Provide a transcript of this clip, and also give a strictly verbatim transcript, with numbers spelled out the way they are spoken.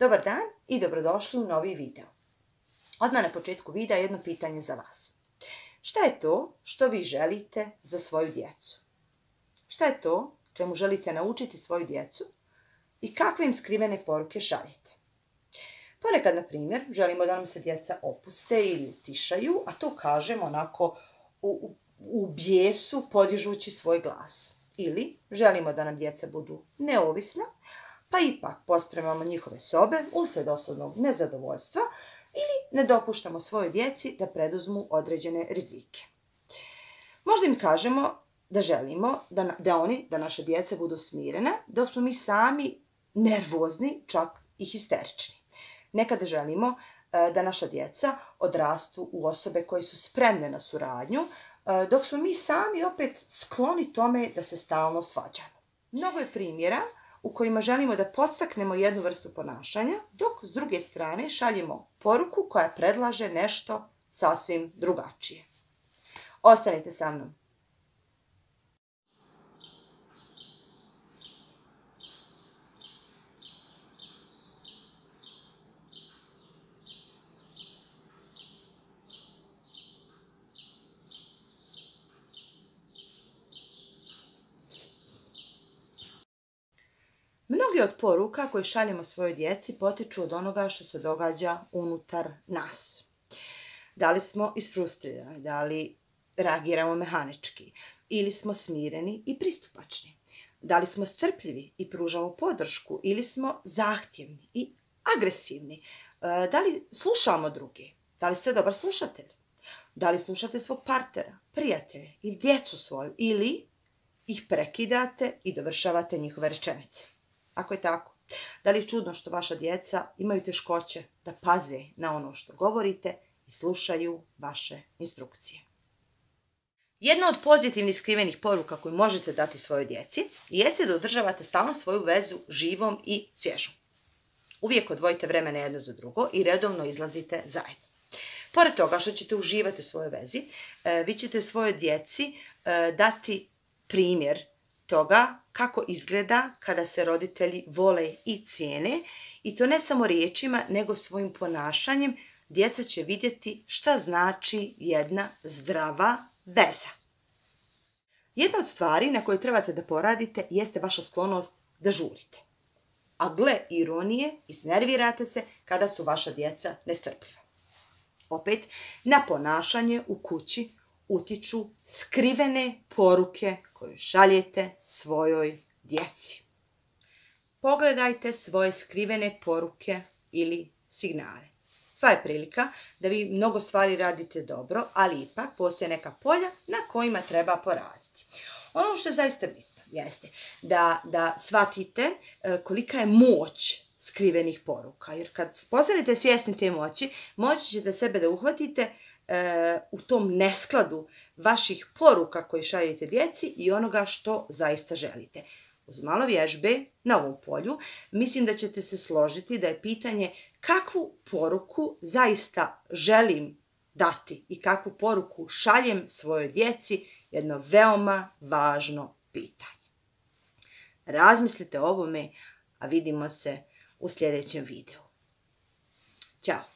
Dobar dan i dobrodošli u novi video. Odmah na početku videa jedno pitanje za vas. Šta je to što vi želite za svoju djecu? Šta je to čemu želite naučiti svoju djecu i kakve im skrivene poruke šaljete? Ponekad, na primjer, želimo da nam se djeca opuste ili utišaju, a to kažemo onako u, u, u bijesu podižući svoj glas. Ili želimo da nam djeca budu neovisna, pa ipak pospremamo njihove sobe uslijed osobnog nezadovoljstva ili ne dopuštamo svojoj djeci da preduzmu određene rizike. Možda im kažemo da želimo da, da oni, da naše djeca budu smirena, dok smo mi sami nervozni, čak i histerični. Nekada želimo da naša djeca odrastu u osobe koje su spremne na suradnju, dok smo mi sami opet skloni tome da se stalno svađamo. Mnogo je primjera u kojima želimo da podstaknemo jednu vrstu ponašanja, dok s druge strane šaljemo poruku koja predlaže nešto sasvim drugačije. Ostanite sa mnom. Mnogi od poruka koje šaljemo svojoj djeci potiču od onoga što se događa unutar nas. Da li smo isfrustrirani, da li reagiramo mehanički, ili smo smireni i pristupačni. Da li smo strpljivi i pružamo podršku, ili smo zahtjevni i agresivni. Da li slušamo druge, da li ste dobar slušatelj, da li slušate svog partnera, prijatelja ili djecu svoju, ili ih prekidate i dovršavate njihove rečenice. Ako je tako, da li je čudno što vaša djeca imaju teškoće da paze na ono što govorite i slušaju vaše instrukcije? Jedna od pozitivnih skrivenih poruka koju možete dati svojoj djeci jeste da održavate stalno svoju vezu živom i svježom. Uvijek odvojite vremena jedno za drugo i redovno izlazite zajedno. Pored toga što ćete uživati u svojoj vezi, vi ćete svojoj djeci dati primjer toga kako izgleda kada se roditelji vole i cijene, i to ne samo riječima nego svojim ponašanjem. Djeca će vidjeti šta znači jedna zdrava veza. Jedna od stvari na koje trebate da poradite jeste vaša sklonost da žurite. A gle ironije, iznervirate se kada su vaša djeca nestrpljiva. Opet, na ponašanje u kući utiču skrivene poruke koje šaljete svojoj djeci. Pogledajte svoje skrivene poruke ili signale. Sva je prilika da vi mnogo stvari radite dobro, ali ipak postoje neka polja na kojima treba poraditi. Ono što je zaista bitno jeste da, da shvatite kolika je moć skrivenih poruka. Jer kad postanete svjesni te moći, moći ćete sebe da uhvatite u tom neskladu vaših poruka koje šaljete djeci i onoga što zaista želite. Uz malo vježbe na ovom polju mislim da ćete se složiti da je pitanje kakvu poruku zaista želim dati i kakvu poruku šaljem svojoj djeci jedno veoma važno pitanje. Razmislite o ovome, a vidimo se u sljedećem videu. Ćao!